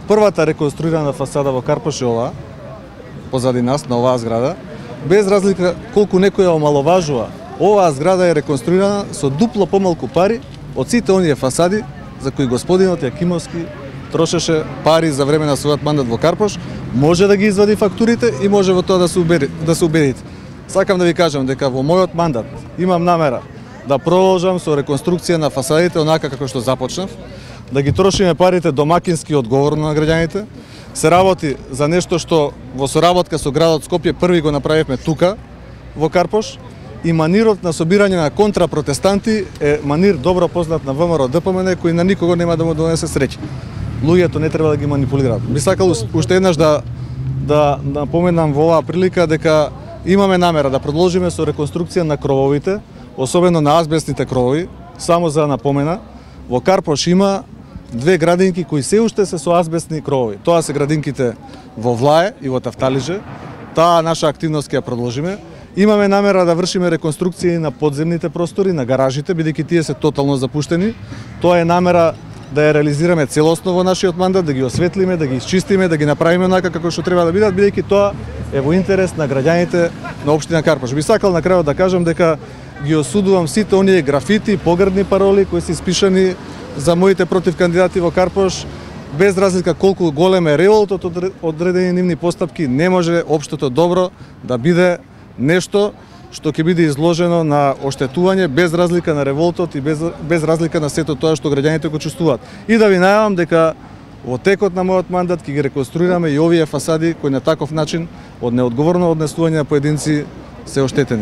првата реконструирана фасада во Карпош е ова, позади нас, на оваа зграда. Без разлика колку некој ја омаловажува, оваа зграда е реконструирана со дупло помалку пари од сите оние фасади за кои господинот Јакимовски трошеше пари за време на својот мандат во Карпош. Може да ги извади фактурите и може во тоа да се убедите. Сакам да ви кажам дека во мојот мандат имам намера да продолжам со реконструкција на фасадите онака како што започнав, да ги трошиме парите домакински и одговорно на граѓаните. Се работи за нешто што во соработка со градот Скопје први го направивме тука во Карпош, и манирот на собирање на контрапротестанти е манир добро познат на ВМРО ДПМН, кој на никого нема да му донесе среќа. Луѓето не треба да ги манипулираат. Би сакал уште еднаш да напоменам во оваа прилика дека имаме намера да продолжиме со реконструкција на крововите, особено на азбестните кровови. Само за напомена, во Карпош има две градинки кои се уште се со азбестни кровови. Тоа се градинките во Влае и во Тафталиџе. Таа наша активност ќе ја продолжиме. Имаме намера да вршиме реконструкција на подземните простори, на гаражите, бидејќи тие се тотално запуштени. Тоа е намера да ја реализираме целосно во нашиот мандат, да ги осветлиме, да ги исчистиме, да ги направиме онака како што треба да бидат, бидејќи тоа е во интерес на граѓаните на општина Карпош. Би сакал на крајот да кажам дека ги осудувам сите оние графити, погрдни пароли кои се испишани за моите против кандидати во Карпош. Без разлика колку голем е револтот од одредени нивни постапки, не може општото добро да биде нешто што ќе биде изложено на оштетување без разлика на револтот и без разлика на сето тоа што граѓаните го чувствуваат. И да ви најавам дека во текот на мојот мандат ќе ги реконструираме и овие фасади кои на таков начин од неодговорно однесување на поединци се оштетени.